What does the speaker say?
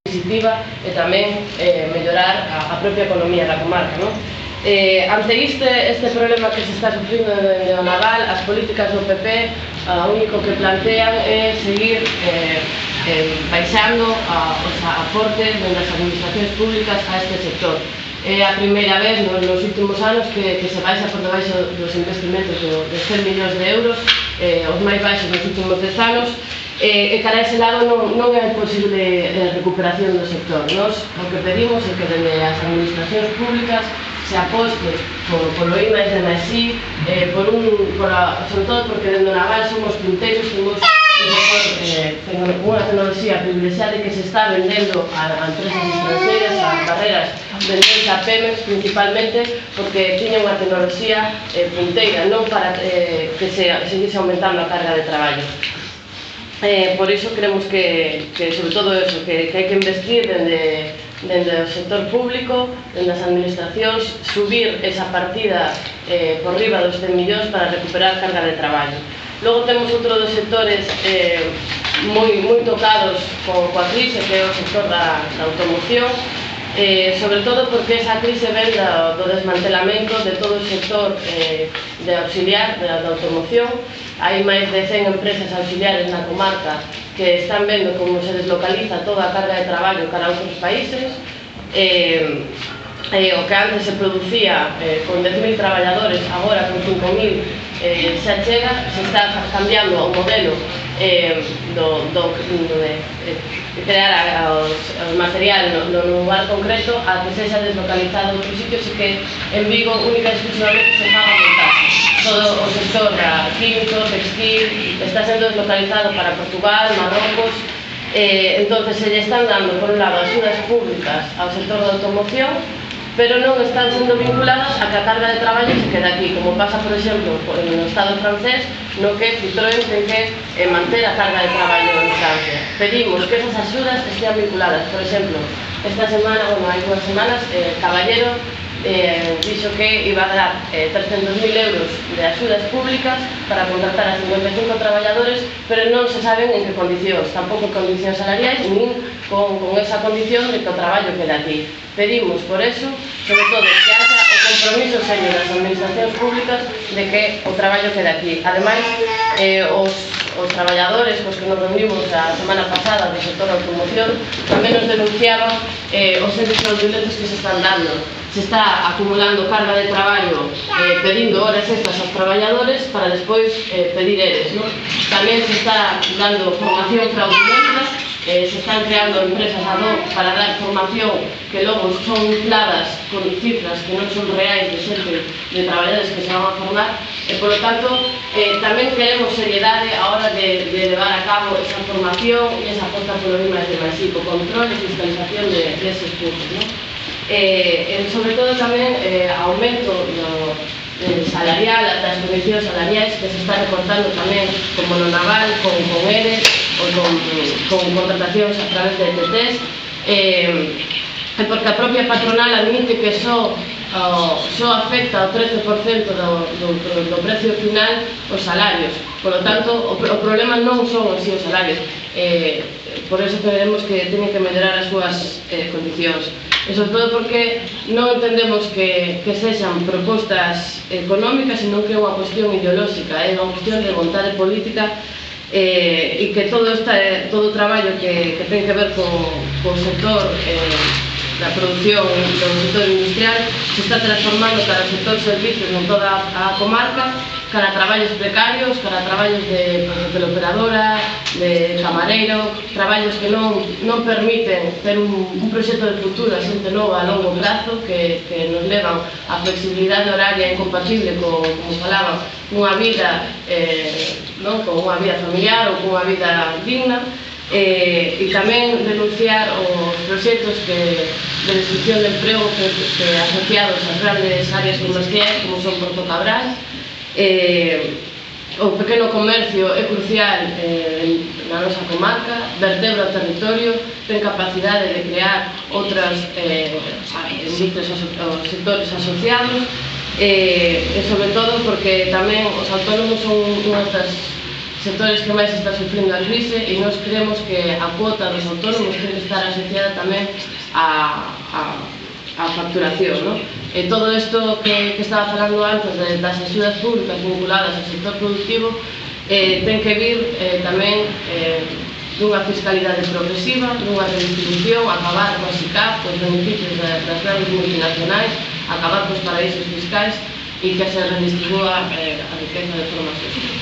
positiva e tamén mellorar a propia economía da comarca, non? Ante este problema que se está sufrindo dende o naval, as políticas do PP o único que plantean é seguir baixando os aportes das administracións públicas a este sector. É a primeira vez nos últimos anos que se baixa por debaixo dos investimentos de 100 millóns de euros, os máis baixos nos últimos 10 anos, e cara a ese lado non é posible recuperación do sector. Nos o que pedimos é que dende as administracións públicas se aposte polo I+D+I, sobre todo porque dende o naval somos punteiros, temos unha tecnoloxía privilexiada que se está vendendo a empresas extranjeras, a carreras vendendo a Pemex principalmente porque tiña unha tecnoloxía punteira, non para que se seguise aumentando a carga de traballo. Por iso creemos que sobre todo eso, que hai que investir dende o sector público, dende as administracións, subir esa partida por riba dos 100 millóns para recuperar carga de traballo. Logo temos outro dos sectores moi tocados coa crise, que é o sector da automoción, sobre todo porque esa crise ven do desmantelamento de todo o sector de auxiliar da automoción. Hai máis de 100 empresas auxiliares na comarca que están vendo como se deslocaliza toda a carga de traballo cara a outros países. O que antes se producía con 10.000 traballadores, agora con 5.000 xa chega, se está cambiando o modelo de crear os material no lugar concreto a que sexa deslocalizado en outros sitios e que en Vigo única e exclusivamente se faga montaje. Todo o sector químico, textil, está sendo deslocalizado para Portugal, Marrocos, entonces se lle están dando, por un lado, axudas públicas ao sector da automoción, pero non están sendo vinculadas a que a carga de traballo se quede aquí, como pasa, por exemplo, no Estado francés, no que Citroën ten que manter a carga de traballo en Francia. Pedimos que esas axudas estean vinculadas, por exemplo, esta semana, hai 2 semanas, Caballero dixo que iba a dar 300.000 euros de axudas públicas para contratar a 55 traballadores, pero non se saben en que condicións, tampouco condicións salariais, nin con esa condición de que o traballo quede aquí. Pedimos, por eso, sobre todo, que haxa o compromiso serio das administracións públicas de que o traballo quede aquí. Ademais, os traballadores cos que nos reunimos a semana pasada do sector da automoción tamén nos denunciaban os servizos fraudulentos que se están dando. Se está acumulando carga de traballo pedindo horas extras aos traballadores para despois pedir eres. Tamén se está dando formación fraudulenta, se están creando empresas ad hoc para dar formación que logo son infladas con cifras que non son reais de xente de traballadores que se van a formar e, polo tanto, tamén queremos seriedade a hora de levar a cabo esa formación e esa aposta polo I+D+I, co control e fiscalización deses cursos. Sobre todo tamén aumento salarial, das condicións salariais que se está recortando tamén como no naval, con ERE ou con contratacións a través de ETTs, porque a propia patronal admite que só afecta o 13% do precio final os salarios. Por lo tanto, o problema non son os salarios, por eso queremos que teñen que mellorar as súas condicións. E sobre todo porque non entendemos que sexan propostas económicas, senón que é unha cuestión ideolóxica, é unha cuestión de vontade política e que todo o traballo que ten que ver co sector da producción do sector industrial se está transformando cara ao sector servicios en toda a comarca, cara a traballos precarios, cara a traballos de teleoperadora, de camareiro, traballos que non permiten ter un proxecto de futuro a xente nova a longo prazo, que nos levan a flexibilidade horaria incompatible como falaba, unha vida con unha vida familiar ou con unha vida digna, e tamén denunciar os proxectos de destrucción de emprego que asociados ás grandes áreas comerciais como son Porto Cabral. O pequeno comercio é crucial na nosa comarca, vertebra o territorio, ten capacidade de crear outros sectores asociados, e sobre todo porque tamén os autónomos son unha das sectores que máis está sufrindo a crise, e nós creemos que a cuota dos autónomos ten que estar asociada tamén a facturación, non? E todo isto que estaba falando antes das axudas públicas vinculadas ao sector productivo ten que vir tamén dunha fiscalidade progresiva, dunha redistribución, acabar coas SICAF, cos beneficios das grandes multinacionais, acabar cos paraísos fiscais e que se redistribúa a riqueza de forma xusta.